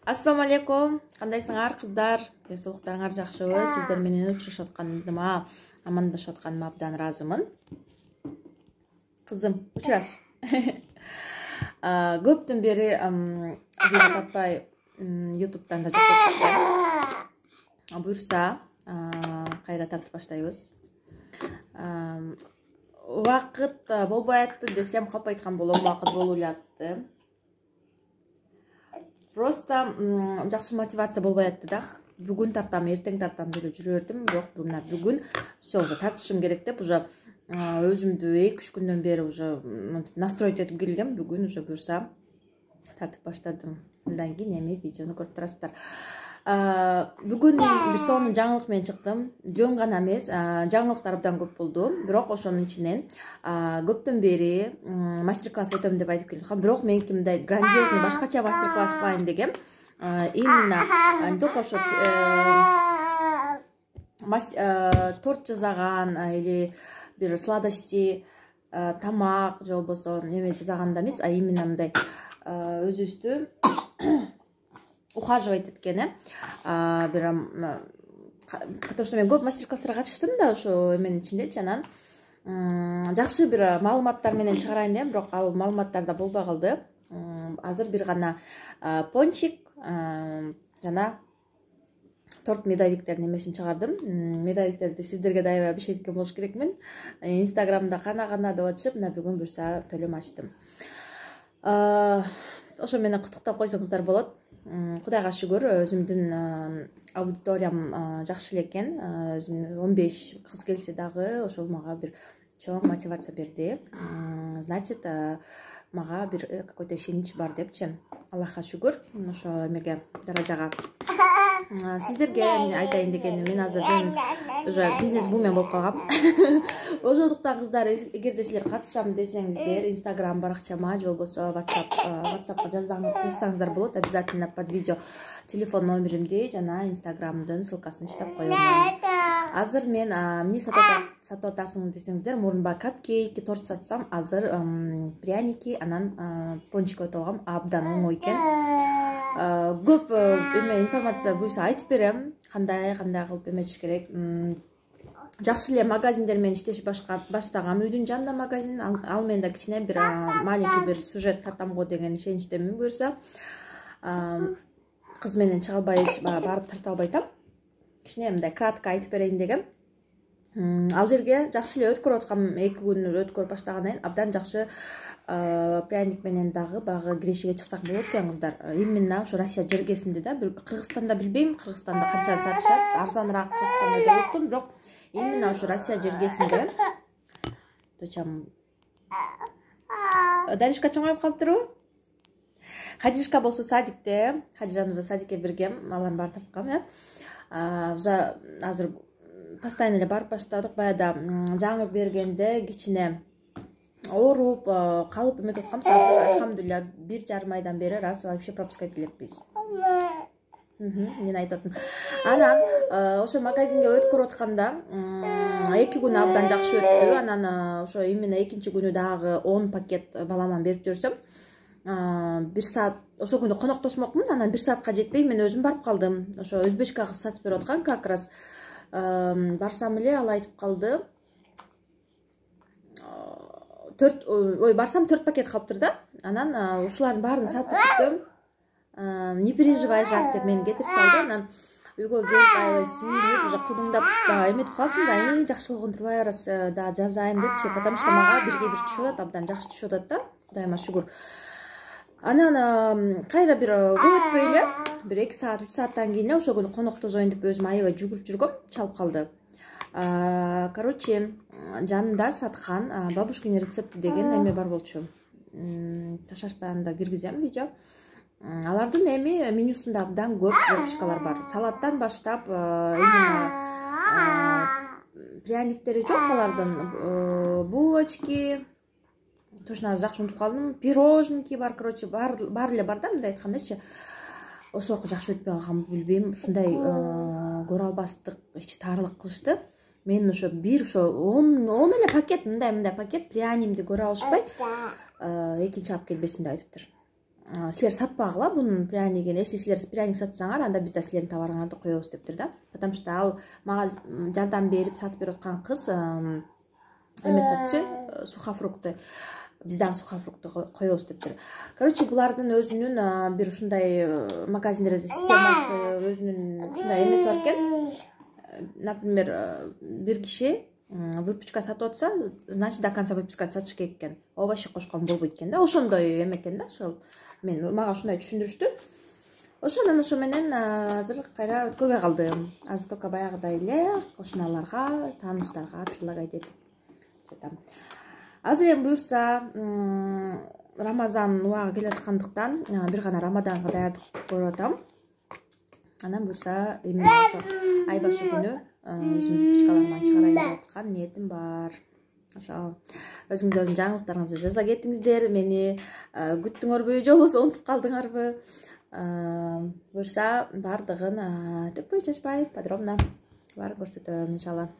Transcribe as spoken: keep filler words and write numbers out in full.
Ассаламу алейкум. Кандайсыңар кыздар? Денсаулыктарыңар жакшыбы? Сиздер менен учурашып атканыма, амандашып атканыма абдан ыраазымын. Кызым, учураш. Көптөн бери видео тартпай ютубтан да жок болуп. Буюрса, кайра тартып баштайбыз. Убакыт болбой атты десем калп айткан болом, убакыт болуп эле атты. Просто жакшы мотивация болбой атты да. Бүгүн тартам, эртең тартам деп жүрө бердим, бирок мына бүгүн все уже тартышым керек деп уже өзүмдү эки үч күндөн бери уже настроить этип келгем. Бүгүн уже буюрса тартып баштадым. Мындан кийин эми видеону көрүп турасыздар. Бүгүн бир сонун жаңылык менен чыктым. Жөн гана эмес, жаңылыктар абдан көп болду. Бирок ошонун ичинен көптөн бери мастер-класс өтөм деп айтып келдим. Бирок меники мындай грандиозный башкача мастер-класс кылайын дегем. Именно не только ошо торт жасаган или бир сладости, тамак же болбосо неме жасаганда эмес, а именно мындай өзүбүздү ухаживать эткени. Потому что мен көп мастер-класстарга катыштым да ошо эменин ичиндечи, анан жакшы бир маалыматтар менен чыгарайын дегем, бирок ал маалыматтар да болбой калды. Азыр бир гана пончик жана торт медовиктердин эмесин чыгардым. Медовиктерди сиздерге да аябай бешет эткен болуш керекмин. Инстаграмда кана-кана деп атышып, мына бүгүн буюрса төлөм ачтым. Ошо менен куттуктап койсоңуздар болот. Кудайга шүгүр, өзүмдүн аудиториям жакшы эле экен. он беш кыз келсе дагы ошол мага бир чоң мотивация берди. Значит, мага бир какой-то ишенич бар депчи. Аллахка шүгүр, ошо эмеге даражага. Сиздерге айтайын дегеним, мен азыр уже бизнес-вумен болуп калгам. Ошондуктан кыздар, эгерде силер катышам десеңиздер, Инстаграм баракчама же болбосо WhatsApp WhatsAppка жазсаңыздар болот. Обязательно под видео телефон номеримди жана Инстаграмдын ссылкасын чытап коем. Азыр мен эмне сатып атасың десеңиздер, мурунба капкейк, торт сатсам, азыр пряники, анан пончик өтүп алгам. Абдан оңой экен. Көп эме информация буйрса айтып берем, кандай кандай кылып эметиш керек. Жакшы эле магазиндер менен иштеш баштагам. Үйдүн жанында магазин, ал менен да кичине бир маленький бир сюжет тартам го деген ишеничтемин. Буюрса кыз менен чыга албай барып тарта албай атам. Кичине мындай кратко айтып берейин дегем. Ал жерге жакшы эле өткөрүп аткам, эки күн өткөрүп баштагандан кийин абдан жакшы пряник менен дагы багы кирешиге чыксак болот экен кыздар. Именно ошо Россия жергесинде да, Кыргызстанда билбейм, Кыргызстанда канча сатышат, арзаныраак Кыргызстанда деп уктум, бирок именно ошо Россия жергесинде. Точам. Даришка чоңоюп калыптырбы? Хадишка болсо садикте, Хадижануза садикке биргем, алардын баарын тарткам, э. Уже азыр постоянно эле барып баштадык. Баягыда жаңы бергенде кичине ооруп калып эметип аткам. Азыр алхамдулилля бир жарым айдан бери раз вообще пропускать элекпиз. Мен айтып аттым. Анан ошо магазинге өткөрүп атканда эки күн абдан жакшы өттү. Анан ошо именно экинчи күнү дагы он пакет баламан берип жүрсөм, бир саат ошо күнү коноктосмокмун. Анан бир саатка жетпей мен өзүм барып калдым. Ошо өзбечка кыз сатып берип аткан, как раз барсам эле ал айтып калды. төрт ой барсам төрт пакет калыптыр да. Анан ушулардын баарын сатып бүттүм. Не переживай, жак деп мени кетирип салды. Анан үйгө келип аябай сүйүнүп, уже кудуңдап эметип калсың да, "Эй, жакшы болгон турбай арас да жазайм" депчи, потому что мага бирге бир түшүп атат, абдан жакшы түшүп атат да. Кудайыма шүгүр. Анан кайра бир көп өтпөй эле, бир эки саат, үч сааттан кийин ошо күнү коноктозоюн деп өзүм аябай жүгүрүп жүргөм, чалып калды. Короче, жанында саткан бабушкин рецепти деген эме бар болчу. Ташашпай анда киргизем видео. Алардын эми менюсунда абдан көп фишкалар бар. Салаттан баштап, именно пряниктери жок алардын, булочки, точно жакшы унутуп калдым, пирожники бар, короче, бар эле бар да, мындай айткандачы. Ошол жакшы өтпөй калганбы билбейм, ушундай көрө албастык, ичи таарылык кылышты. Мен ошо бир ошо он эле пакет, мындай мындай пакет прянимди көрө алышпай, экинчи алып келбесин деп айтыптыр. силер сатпагыла бунун пряникин. Если силер пряник сатсаңар, анда биз да силердин товарыңарды коебуз дептир да. Потому что ал мага жардам берип сатып берип аткан кыз эме сатчы, сухофрукты. Биз дагы сухофрукты коебуз дептир. Короче, булардын өзүнүн бир ушундай магазиндерде системасы, өзүнүн ушундай эмеси бар экен. Например, бир киши выпечка сатып атса, значит до конца выпечка сатыш керек экен. Овощи кошкон болбойт экен да. Ошондой эме экен да, ошол. Мен мага ушундай түшүндүрүштү. Ошондон ошо менен азыр кайра өткөрбөй калдым. Азыр только баягыдай эле кошуналарга, тааныштарга предлагать этип жатам. Азыр эми буюрса Рамазан убагы келе аткандыктан бир гана Рамаданга даярдык көрүп атам. Анан буюрса эми ошо ай башы күнү өзүмдүн выпечкаларымдан чыгарайын деп аткан ниетим бар. Ошо өзүңүздөрдүн жаңылыктарыңызды жаза кетиңиздер. Мени күттүңөрбү же болбосо унутуп калдыңарбы? Буюрса бардыгын төкпөй чачпай подробно баарын көрсөтөм иншалла.